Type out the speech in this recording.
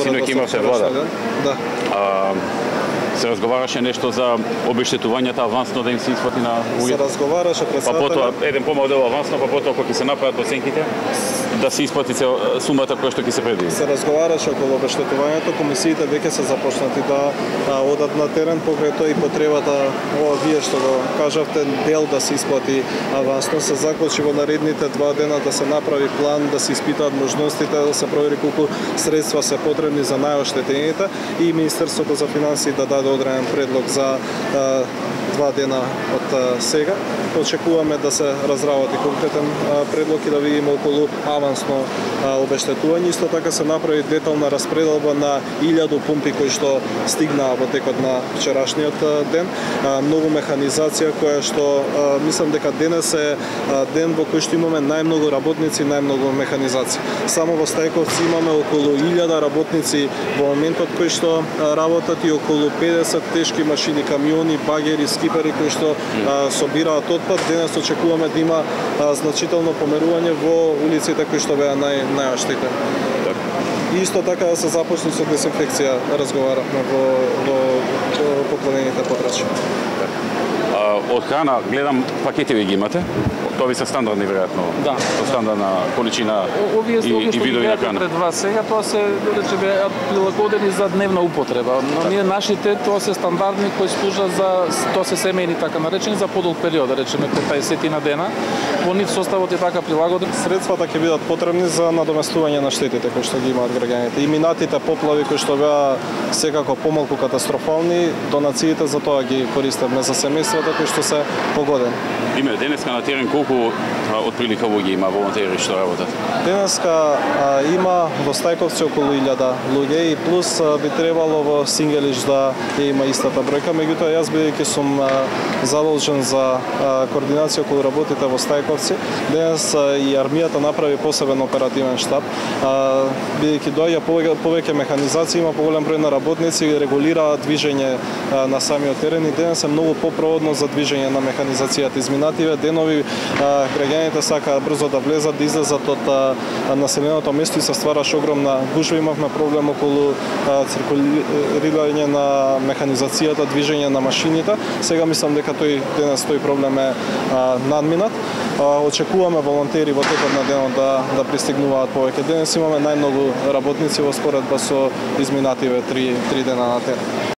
Синоќ имавте вода. Да. Се разговараше нешто за обештетувањата авансно да им се исплати на луѓето? Се разговараше председателот. Па потоа еден помал дел авансно, па потоа кога ќе се направат оценките, да се исплати сумата која што ќе се предвиди. Се разговараше околу обештетувањето, комисиите веќе се започнати да одат на терен, покрај тоа и потребата, вие што го кажавте, дел да се исплати авансно, се заклучи во наредните 2 дена да се направи план, да се испитаат можностите, да се провери колку средства се потребни за најоштетените и Министерството за финансии да даде одреден предлог за 2 дена од сега. Очекуваме да се разработи конкретен предлог и да видиме околу авансно обештетување. Исто така се направи детална распределба на 1000 пумпи кои што стигнаа во текот на вчерашниот ден. Многу механизација која што мислам дека денес е ден во кој што имаме најмногу работници, најмногу механизација. Само во Стајковци имаме околу 1000 работници во моментот кои што работат и околу 50 тешки машини, камиони, багери, скипери кои што собираат отпад. Денес очекуваме да има значително померување во улиците кои што беа најоштетени. И исто така да се започне со дезинфекција, разговаравме во поклонените подрачја. Од храна гледам пакетиви ги имате. Тоа ви се стандардни веројатно. Да. Со стандардна количина и видови на храна. Пред вас сега тоа се речеме прилагодени за дневна употреба. Но ние нашите тоа се стандардни кои служат за тоа се семејни така наречени за подолг период, да речеме 50 на дена. Во нив составот е така прилагоден. Средствата ќе бидат потребни за надоместување на штетите кои што ги имаат граѓаните. И минатите поплави кои што беа секако помалку катастрофални, донациите за тоа ги користевме за семејствата кои што се погодени. Име денеска на терен колку отприлика луѓе има волонтери што работат? Денеска има во Стајковци околу 1000 луѓе и плюс би требало во Сингелиш да има истата бројка, меѓутоа јас бидејќи сум задолжен за координација околу работите во Стајковци, денес и армијата направи посебен оперативен штаб, бидејќи доаѓа повеќе механизација, има поголем број на работници и регулира движење на самиот терен и денес е многу попроводно за движење на механизацијата. Изминативе денови граѓаните сакаат брзо да влезат, да излезат од населеното место и се ствараше огромна гужва. Имавме проблем околу циркулирање на механизацијата, движење на машините. Сега мислам дека денес тој проблем е надминат. Очекуваме волонтери во текот на денот да пристигнуваат повеќе. Денес имаме најмногу работници во споредба со изминативе 3 дена на терен.